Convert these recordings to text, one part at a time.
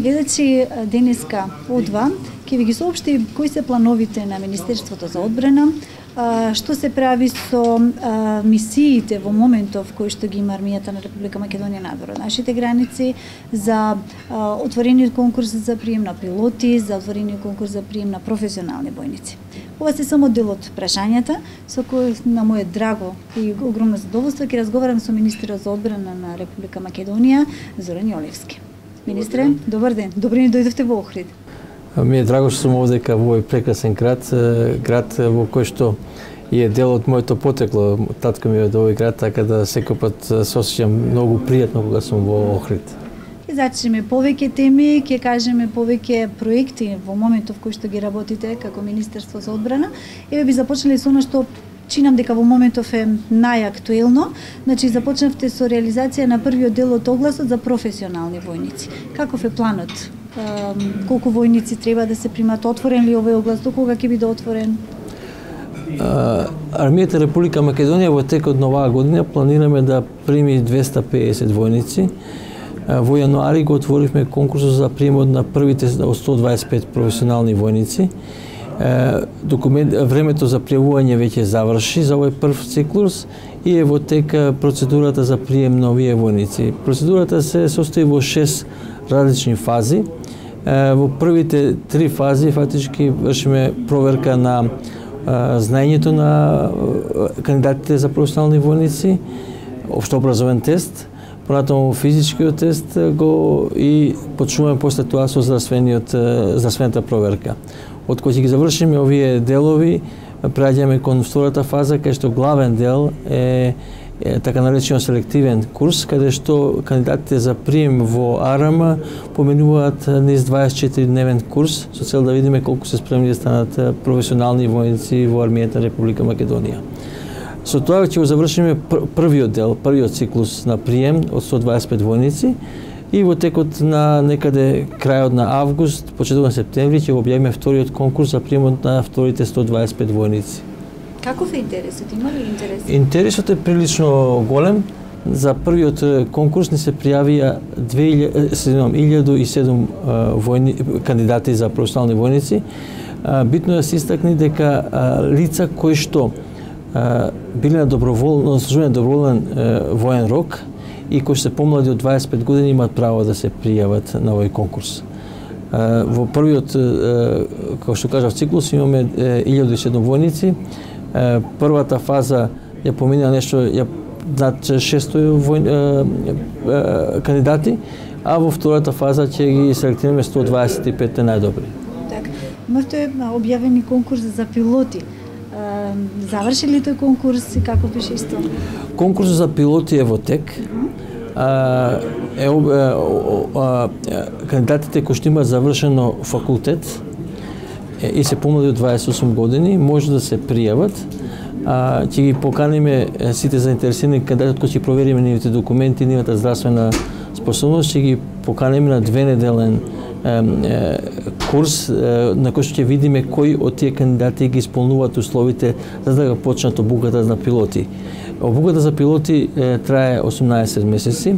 гледачи, денеска одва ќе ви ги соопшти кои се плановите на Министерството за одбрана, што се прави со мисиите во моментов кои што ги има армијата на Република Македонија надвор од нашите граници, за отворениот конкурс за прием на пилоти, за отворениот конкурс за прием на професионални војници. Ова се само дел од прашањата со кои на моје драго и огромно задоволство ќе разговарам со министерот за одбрана на Република Македонија Зоран Јолевски. Министре, добар ден. Добро ни дојдовте во Охрид. Ми е драго што сум овдека во овој прекрасен град во кој што е дел од моето потекло. Татко ми е од овој град, така да секој пат се осеќам многу пријатно кога сум во Охрид. Ќе зачнеме повеќе теми, ќе кажеме повеќе проекти во моментов кој што ги работите како Министерство за одбрана. Еве би започнале со она што чинам дека во моментов е најактуелно. Значи започнавте со реализација на првиот дел од огласот за професионални војници. Каков е планот? Колку војници треба да се примат? Отворен ли овој оглас? До кога ќе биде отворен? Армијата Република Македонија во текот на оваа година планираме да прими 250 војници. Во јануари го отворивме конкурсот за приемот на првите од 125 професионални војници. Времето за пријавување веќе заврши за овој прв циклус и е во тек процедурата за прием на овие војници. Процедурата се состои во 6 различни фази. Во првите 3 фази фактички вршиме проверка на знаењето на кандидатите за професионални војници, општообразовен тест, понатаму физичкиот тест и почнуваме после тоа со здравствената проверка. Од кој ќе ги завршиме овие делови, преаѓаме кон втората фаза, кај што главен дел е така наречен селективен курс, каде што кандидатите за прием во АРМ поминуваат низ 24-дневен курс со цел да видиме колку се спремни да станат професионални војници во армијата на Република Македонија. Со тоа ќе го завршиме првиот дел, првиот циклус на прием од 125 војници и во текот на некаде крајот на август, почетокот на септември ќе го објавиме вториот конкурс за приемот на вторите 125 војници. Каков е интересот? Има ли интерес? Интересот е прилично голем. За првиот конкурс ни се пријавија 1007 кандидати за професионални војници. Битно е да се истакне дека лица кои што биле на доброволен воен рок и кои се помлади од 25 години имаат право да се пријават на овој конкурс. Во првиот, како што кажав, циклус имаме 1007 војници. Првата фаза ја помина над 600 кандидати, а во втората фаза ќе ги селектираме 125 најдобри. Така, имавте објавени конкурс за пилоти. Заврши ли тој конкурс и како беше исто? Конкурсот за пилоти е во тек. Кандидатите кои што имаат завршено факултет и се помлади од 28 години може да се пријават. Ќе ги поканиме сите заинтересирани кандидати кои ќе провериме нивните документи, нивната здравствена способност, ќе ги поканиме на 2-неделен курс на кој што ќе видиме кои од тие кандидати ги исполнуваат условите за да го почнат обуката на пилоти. Обуката за пилоти трае 18 месеци.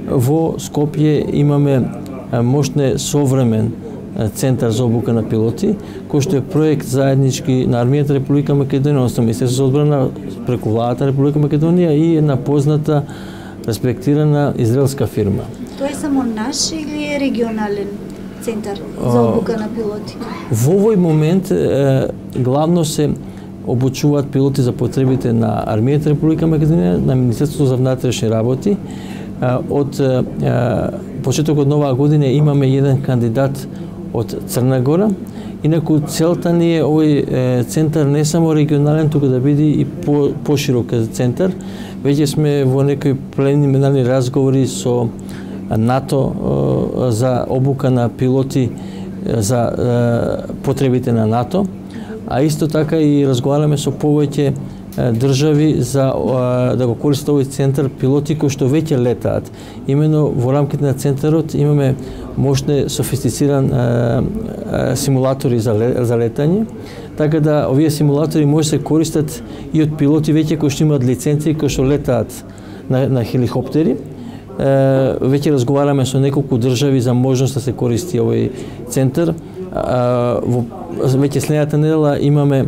Во Скопје имаме мощне современ центар за обука на пилоти, кој што е проект заеднички на армијата Република Македонија, односно Министерството за одбрана преку владата на Република Македонија и една позната, респектирана израелска фирма. Тоа е само наш или е регионален центар за обука на пилоти? Во овој момент главно се обучуваат пилоти за потребите на армијата Република Македонија, на Министерството за внатрешни работи. Од почетокот на оваа година имаме еден кандидат од Црна Гора. Инаку целта ни е овој центар не само регионален, туку да биде и поширок центар. Веќе сме во некои прелиминарни разговори со НАТО за обука на пилоти за потребите на НАТО, а исто така и разговараме со повеќе држави за да го користат овој центар пилоти кои што веќе летаат. Имено во рамките на центарот имаме мощне софистициран симулатори за летање, така да овие симулатори може се користат и од пилоти веќе кои што имаат лиценци, кои што летаат на хеликоптери. веќе разговараме со неколку држави за можност да се користи овој центар. Веќе следната недела имаме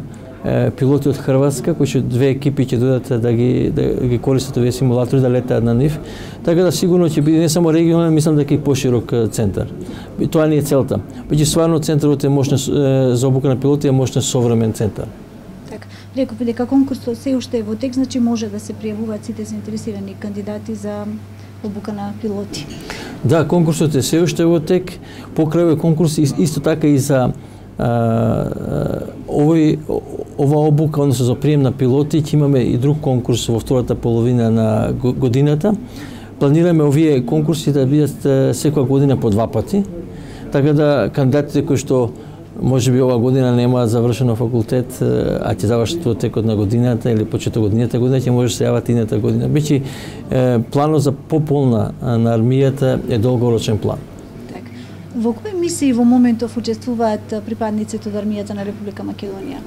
пилоти од Хрватска, кои што две екипи ќе додат да ги користат овие симулатори, да летаат на нив. Така да сигурно ќе биде не само регионален, мислам дека и поширок центар. И тоа не е целта. Веќе стварно центарот е можна за обука на пилоти, е можна современ центар. Така, реков дека конкурсот се уште е во тек, значи може да се пријавуваат сите заинтересирани кандидати за обука на пилоти. Да, конкурсот е се уште во тек. Покрај овој конкурс исто така и за ова обука, односно за прием на пилоти, ќе имаме и друг конкурс во втората половина на годината. Планираме овие конкурси да бидат секоја година по 2 пати, така да кандидатите кои што можеби ова година немаат завршено факултет, а ќе завршат во текот на годината или почеток годината ќе може да се јават ината година. Бичи планот за пополна на армијата е долгорочен план. Во кои мисии во моментов учествуваат припадниците од армијата на Република Македонија?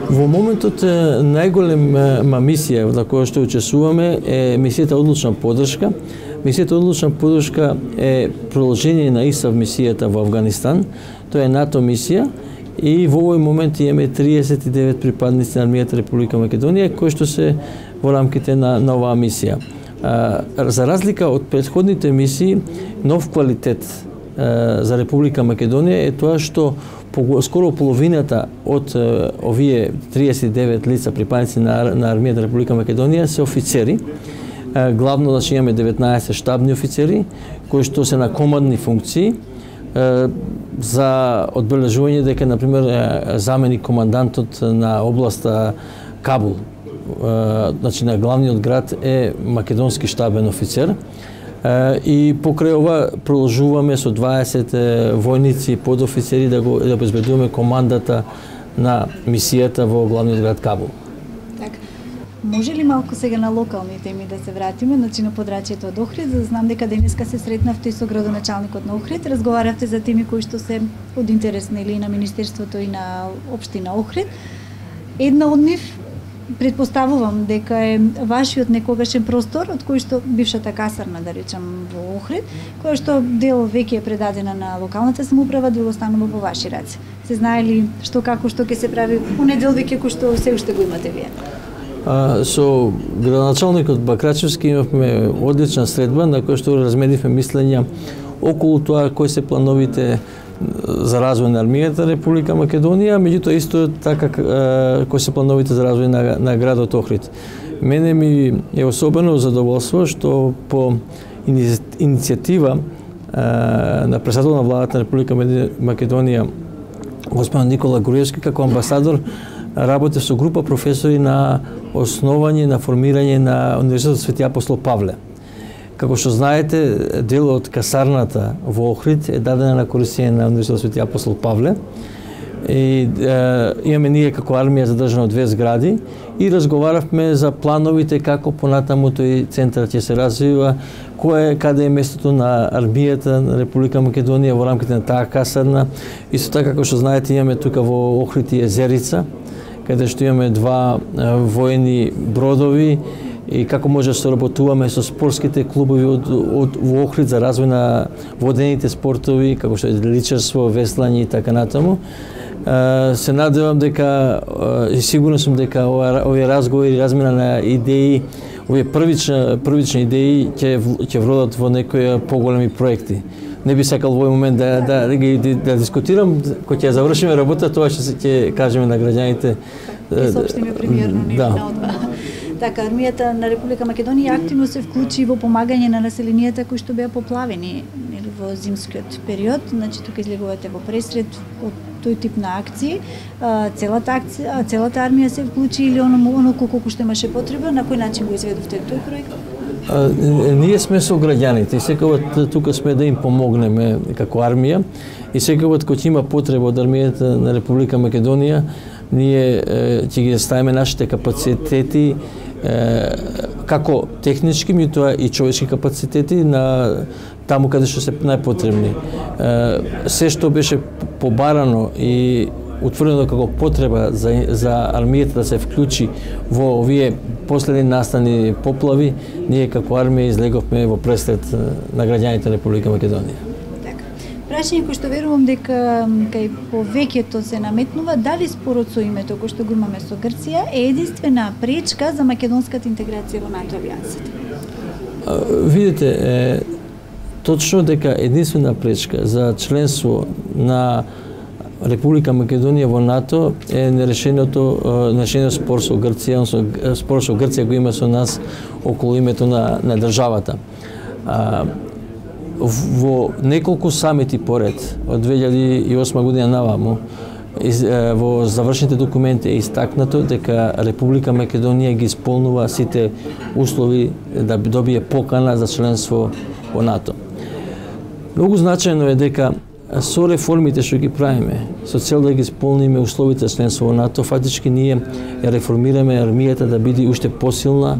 Во моментот најголема мисија на која што учествуваме е мисијата Одлучна поддршка. Мисијата Одлучна поддршка е продолжение на ИСАФ мисијата во Авганистан. Тоа е НАТО мисија и во овој момент имаме 39 припадници на армијата Република Македонија кои што се во рамките на оваа мисија. За разлика од претходните мисии, нов квалитет за Република Македонија е тоа што скоро половината од овие 39 лица припадници на армијата Република Македонија се офицери. Главно значи имаме 19 штабни офицери кои што се на командни функции, за одбележување дека на пример заменик командантот на областа Кабул, значи на главниот град е македонски штабен офицер. И покрај ова продолжуваме со 20 војници и подофицери да обезбедуваме командата на мисијата во главниот град Кабул. Така. Може ли малку сега на локални теми да се вратиме, значи на подрачјето од Охрид, за да знам дека денеска се сретнавте и со градоначалникот на Охрид, разговаравте за теми кои што се од интерес или на Министерството и на општина Охрид. Една од нив предпоставувам дека е вашиот некогашен простор, од кој што бившата касарна, да речам, во Охрид, која што дел веќе е предадена на локалната самоуправа, дел останува во ваши раце. Се знае ли што како што ќе се прави оне дел веќе кој што се уште го имате вие? Со градоначалникот Бакрачевски имавме одлична средба на која што разменивме мислења околу тоа кои се плановите за развој на армијата Република Македонија, меѓутоа исто така кои се плановите за развој на градот Охрид. Мене ми е особено задоволство што по иницијатива на председател на владата на Република Македонија господин Никола Груевски како амбасадор работи со група професори на основање на формирање на Универзитетот Свети Апостол Павле. Како што знаете, дел од касарната во Охрид е дадена на користење на Универзитетот Свети Апостол Павле. И имаме ние како армија задржано 2 згради и разговаравме за плановите како понатаму тој центар ќе се развива, каде е местото на армијата на Република Македонија во рамките на таа касарна. Исто така како што знаете, имаме тука во Охрид и езерица, каде што имаме 2 воени бродови и како може да соработуваме со спортските клубови во Охрид за развој на водените спортови, како што е личарство, веслање и така натаму. Се надевам дека и сигурен сум дека овие разговори, размена на идеи, овие првични идеи ќе вродат во некои поголеми проекти. Не би сакал во овој момент да дискутирам, кога ќе завршиме работа, тоа ќе кажеме на граѓаните. Ќе соопштиме премиерно на одба. Така, армијата на Република Македонија активно се вклучи во помагање на населенијата кои што беа поплавени во зимскиот период. Значи, тука излегувате во пресред од тој тип на акции. Целата армија се вклучи или оно колку што имаше потреба, на кој начин го изведовте тој проект? Ние сме со граѓаните и секогаш тука сме да им помогнеме како армија и секогаш кога има потреба од армијата на Република Македонија, ние ќе ги ставиме нашите капацитети како технички, меѓутоа и човечки капацитети на таму каде што се најпотребни. Се што беше побарано и утврдено како потреба за армијата да се вклучи во овие последни настани поплави, ние како армија излеговме во пресред на граѓаните на Република Македонија. Прашање кој што верувам дека кај повеќето се наметнува, дали спорот со името кој што го имаме со Грција е единствена пречка за македонската интеграција во НАТО алијансата? Видите, точно дека единствена пречка за членство на Република Македонија во НАТО е нерешениот спор со Грција, спор со Грција го има со нас околу името на државата. Во неколку самити поред од 2008 година наваму во завршните документи е истакнато дека Република Македонија ги исполнува сите услови да добие покана за членство во НАТО. Многу значајно е дека со реформите што ги правиме, со цел да ги исполниме условите за членство во НАТО, фактички ние ја реформираме армијата да биде уште посилна,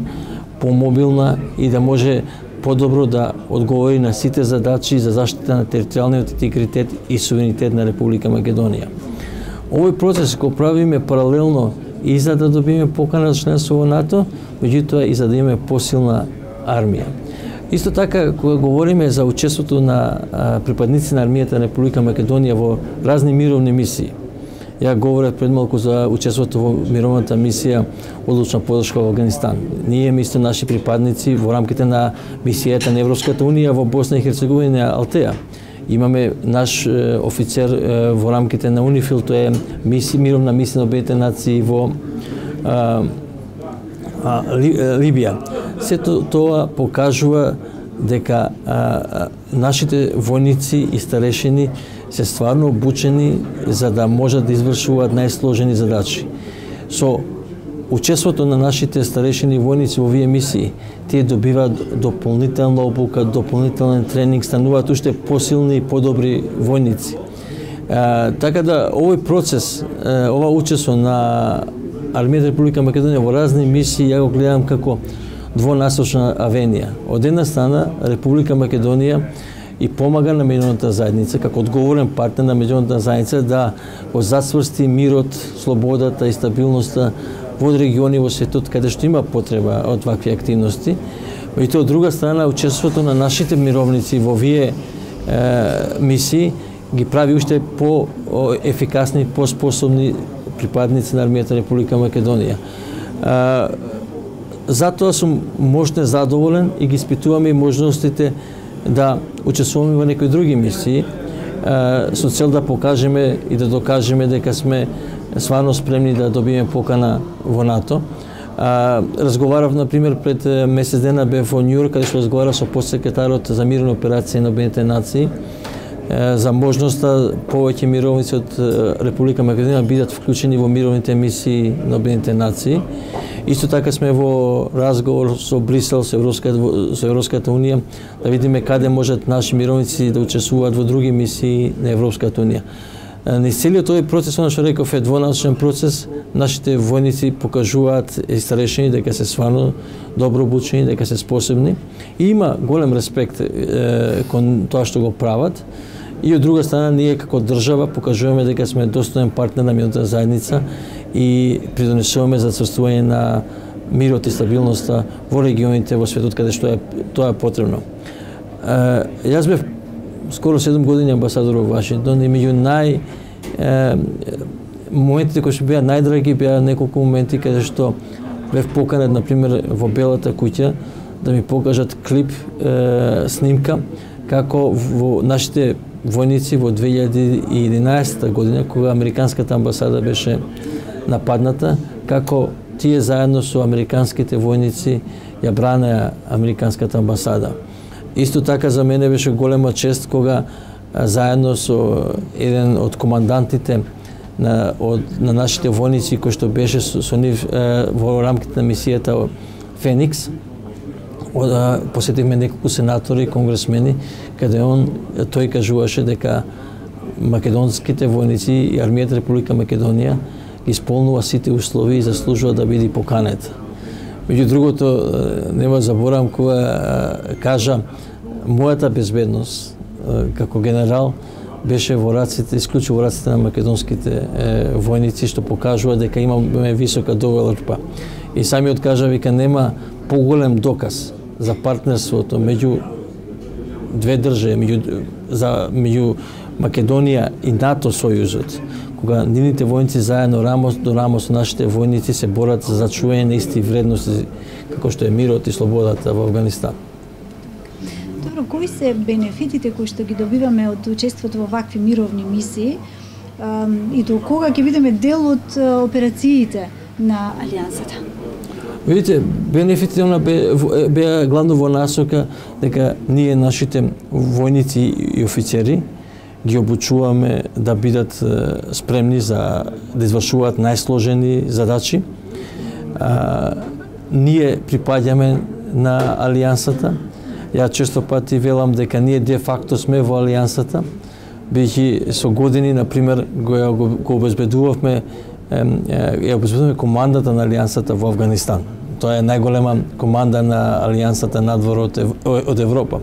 помобилна и да може подобро да одговори на сите задачи за заштита на територијалниот интегритет и суверенитет на Република Македонија. Овој процес го правиме паралелно и за да добиеме покана за членство во НАТО, меѓутоа и за да имаме посилна армија. Исто така, кога говориме за учеството на припадници на армијата на Република Македонија во разни мировни мисии, ја говорев пред малку за учеството во мировната мисија одлучна подршка во Афганистан. Ние исто наши припадници во рамките на мисијата на Европската унија во Босна и Херцеговина Алтеа. Имаме наш офицер во рамките на УНИФИЛ, тоа е мировна мисија на Обединетите нации во Либија. Сето тоа покажува дека нашите војници и старешини се стварно обучени за да можат да извршуваат најсложени задачи. Со учеството на нашите старешини војници во овие мисии, тие добиваат дополнителна обука, дополнителен тренинг, стануваат уште посилни и подобри војници. Така да овој процес, ова учество на армијата Република Македонија во разни мисии, ја го гледам како двонасочна авенија. Од една страна, Република Македонија и помага на меѓународната заедница, како одговорен партнер на меѓународната заедница, да го зацврсти мирот, слободата и стабилноста во региони во светот каде што има потреба од вакви активности. И тоа од друга страна, учеството на нашите мировници во овие мисии ги прави уште по-ефикасни, по-способни припадници на армијата Република Македонија. Затоа сум можно задоволен и ги испитуваме и можностите да учествуваме во некои други мисии со цел да покажеме и да докажеме дека сме стварно спремни да добиеме покана во НАТО. Разговарав, например, пред месец дена бев во Њујорк, каде што разговарав со подсекретарот за мирни операции на Обединетите нации за можноста повеќе мировници од Република Македонија бидат вклучени во мировните мисии на Обединетите нации. Исто така сме во разговор со Брисел, со Европската унија, да видиме каде можат наши мировници да учествуваат во други мисии на Европската унија. Низ целиот овој процес, она што реков, е двонасочен процес. Нашите војници покажуваат и старешини дека се стварно добро обучени, дека се способни и има голем респект кон тоа што го прават. И од друга страна, ние како држава покажуваме дека сме достоен партнер на меѓународната заедница и придонесуваме за црствување на мирот и стабилноста во регионите во светот каде што тоа е потребно. Јас бев скоро 7 години амбасадор во Вашингтон и меѓу моментите кои што беа најдраги беа неколку моменти каде што бев поканет, например, во Белата куќа да ми покажат клип, снимка, како во нашите војници во 2011 година, кога американската амбасада беше нападната, како тие заедно со американските војници ја бранеа американската амбасада. Исто така за мене беше голема чест кога заедно со еден од командантите на нашите војници кој што беше со нив во рамките на мисијата Феникс, посетивме неколку сенатори и конгресмени, каде тој кажуваше дека македонските војници и армијата Република Македонија исполнува сите услови и заслужува да биде поканета. Меѓу другото, нема заборавам кога кажа мојата безбедност како генерал беше во раците, исклучиво во раците на македонските војници, што покажува дека имаме висока доверба. И самиот кажа, вика, нема поголем доказ за партнерството меѓу две држави, меѓу Македонија и НАТО сојузот, кога нивните војници заедно рамос до рамос со нашите војници се борат за зачување на исти вредности како што е мирот и слободата во Авганистан. Добро, кои се бенефитите кои што ги добиваме од учеството во вакви мировни мисии и до кога ќе бидеме дел од операциите на Алијансата? Видите, бенефитите беа главно во насока дека ние нашите војници и офицери ги обучуваме да бидат спремни за да извршуваат најсложени задачи. Ние припаѓаме на Алијансата. Ја често пати велам дека ние де факто сме во Алијансата, бидејќи со години, например, го обезбедувавме командата на Алијансата во Авганистан. Тоа е најголема команда на Алијансата надвор од Европа.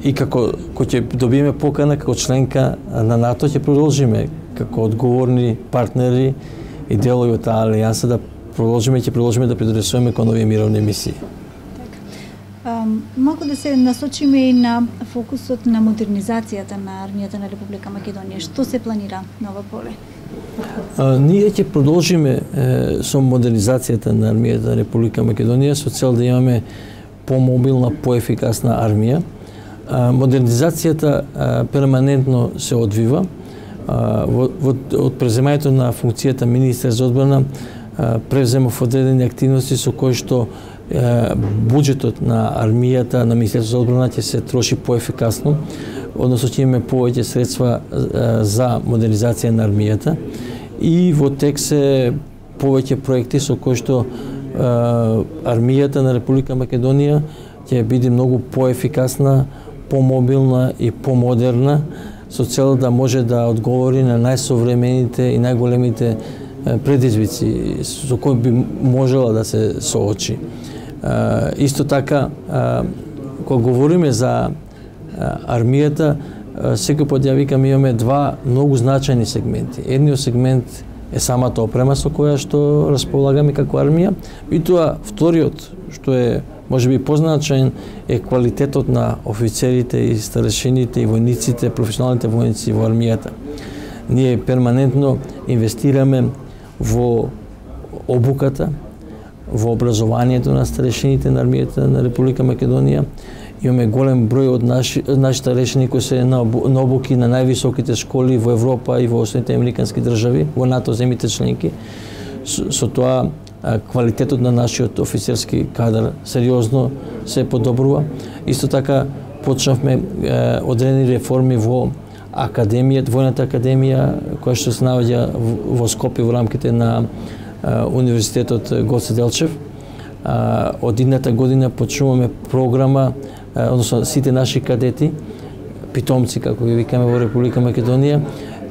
И како ќе добиеме покана како членка на НАТО, ќе продолжиме како одговорни партнери и делови од таа Алијанса да продолжиме да придонесуваме кон овие мировни мисии. Малку да се насочиме и на фокусот на модернизацијата на армијата на Република Македонија. Што се планира на ова поле? Ние ќе продолжиме со модернизацијата на армијата на Република Македонија со цел да имаме помобилна, поефикасна армија. Модернизацијата перманентно се одвива. Од преземањето на функцијата министер за одбрана превземав одредени активности со кои што буџетот на армијата, на Министерството за одбрана ќе се троши поефикасно, односно ќе имаме повеќе средства за модернизација на армијата и во тек се повеќе проекти со кои што армијата на Република Македонија ќе биде многу поефикасна, помобилна и помодерна со цел да може да одговори на најсовремените и најголемите предизвици со кои би можела да се соочи. Исто така, кога говориме за армијата, секој пат ја викам, имаме два многу значајни сегменти. Едниот сегмент е самата опрема со која што располагаме како армија, и тоа вториот, што е можеби позначаен, е квалитетот на офицерите и старешините и војниците, професионалните војници во армијата. Ние перманентно инвестираме во обуката, во образованието на старешините на армијата на Република Македонија. Имаме голем број од наши старешини кои се на обуки на највисоките школи во Европа и во Соединетите американски држави, во НАТО земите членки. Со тоа квалитетот на нашиот офицерски кадар сериозно се подобрува. Исто така почнавме одредени реформи во академијата, војната академија, која што се наоѓа во Скопје во рамките на Универзитетот Гоце Делчев. Од идната година почнуваме програма, односно сите наши кадети, питомци, како ги викаме во Република Македонија,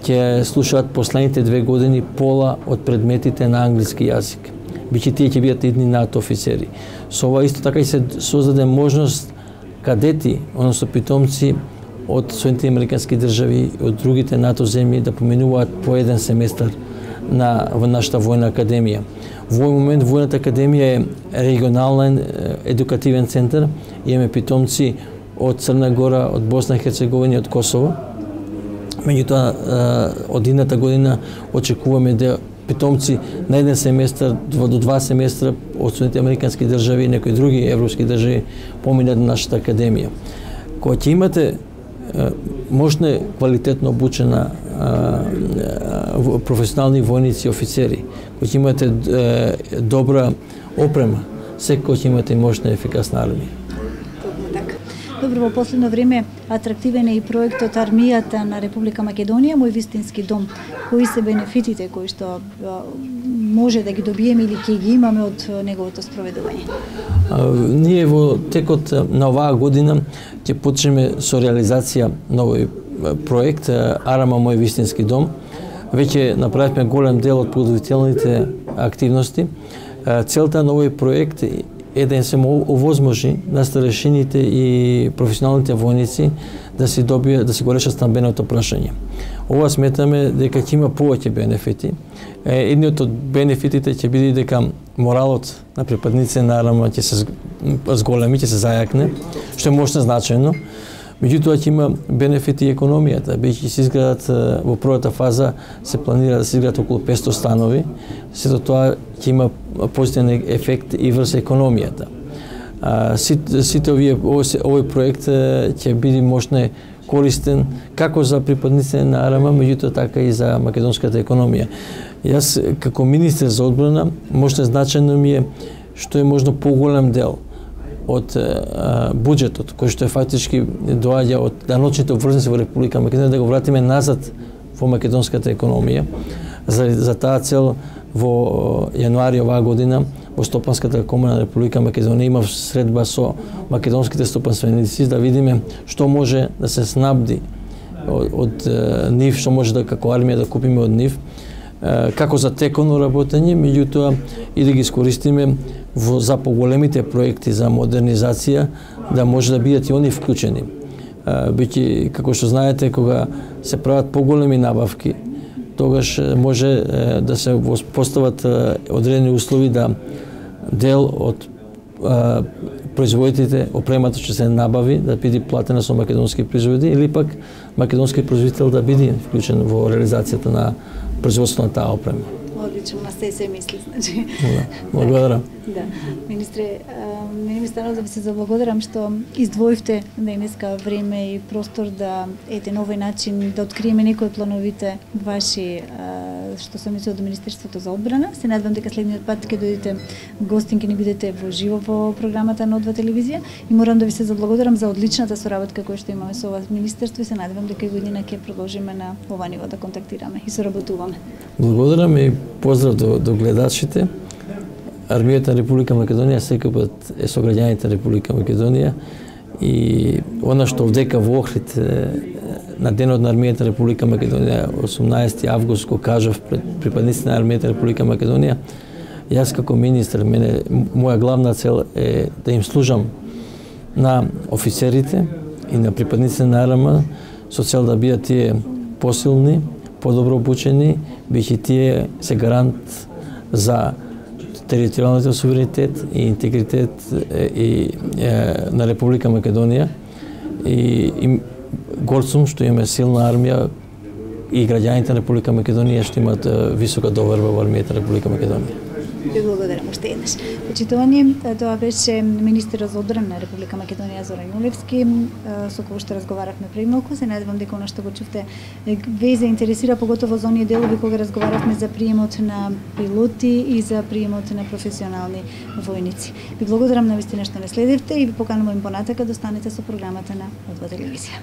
ќе слушаат последните 2 години пола од предметите на англиски јазик. Биќе тие ќе бидат идни НАТО офицери. Со ова исто така и се создаде можност кадети, односно питомци од Соединетите американски држави, од другите НАТО земји да поминуваат по еден семестар во нашата војна академија. Во овој момент војната академија е регионален едукативен центар. Имаме питомци од Црна Гора, од Босна и Херцеговина и од Косово. Меѓутоа, од идната година очекуваме да питомци на еден семестар до 2 семестра од Соединетите американски држави и некои други европски држави поминат на нашата академија. Кога ќе имате мощна, квалитетно обучена професионални војници и офицери, кои ќе имате добра опрема, секој ќе имате мощна и ефикасна армија. Добро, во последно време атрактивен е и проектот Армијата на Република Македонија, Мој вистински дом. Кои се бенефитите кои што може да ги добиеме или ќе ги имаме од неговото спроведување? Ние во текот на оваа година ќе почнеме со реализација на овој проект Арама Мој вистински дом. Веќе направивме голем дел од подготвителните активности. Целта на овој проект е да им се овозможи на старешините и професионалните војници да си го решат стамбеното прашање. Ова сметаме дека ќе има повеќе бенефити. Едниот од бенефитите ќе биде дека моралот на припадниците на АРМ ќе се зголеми, ќе се зајакне, што е можно значајно. Меѓутоа ќе има бенефити и економијата, бидејќи се изградат во првата фаза се планира да се изградат околу 500 станови, сето тоа ќе има позитивен ефект и врз економијата. Сите овој проект ќе биде можно користен како за припадниците на АРМ, меѓутоа така и за македонската економија. Јас како министер за одбрана можно значајно ми е што е можно поголем дел од буџетот, кој што е фактички доаѓа од даночните обврзници во Република Македонија, да го вратиме назад во македонската економија. За таа цел во јануари оваа година во Стопанската комора на Република Македонија има средба со македонските стопанственици да видиме што може да се снабди од нив, што може да како армија да купиме од нив, како за теконо работење, меѓутоа и да ги искористиме за поголемите проекти за модернизација, да може да бидат и они вклучени. Бидејќи, како што знаете, кога се прават поголеми набавки, тогаш може да се постават одредени услови да дел од производителите, опремата што се набави, да биде платена со македонски производи, или пак македонски производител да биде вклучен во реализацијата на производството на таа опрема. Одлично, на се мисли, значи. Благодарам. Да. Министре, мене ми станало да ви се заблагодарам што издвоивте денеска време и простор да на овој начин да откриеме некои од плановите ваши што се мисли од Министерството за одбрана. Се надевам дека следниот пат ќе дојдете гостин, ќе ни бидете во живо во програмата на О2 телевизија и морам да ви се заблагодарам за одличната соработка која што имаме со ова министерство и се надевам дека и година ќе продолжиме на ова ниво да контактираме и соработуваме. Благодарам и поздрав до гледачите. Армијата на Република Македонија секогаш е со граѓаните на Република Македонија и она што овдека во Охрид на денот на Армијата на Република Македонија 18 август го кажав пред припадниците на Армијата на Република Македонија, јас како министер, моја главна цел е да им служам на офицерите и на припадниците на АРМ со цел да бидат тие посилни, подобро обучени, бидејќи тие се гарант за територијалниот суверенитет и интегритет на Република Македонија и горд сум што имаме силна армија и граѓаните на Република Македонија што имаат висока доверба во армијата на Република Македонија. Ви благодарам уште еднаш. Почитувани, тоа беше министерот за одбрана на Република Македонија Зоран Јулевски, со кој што разговаравме пред малку. Се надевам дека она што го чувте ве заинтересира, поготово за оние делови кога разговаравме за приемот на пилоти и за приемот на професионални војници. Ви благодарам навистина што не следевте и ви поканувам понатака да останете со програмата на О2 телевизија.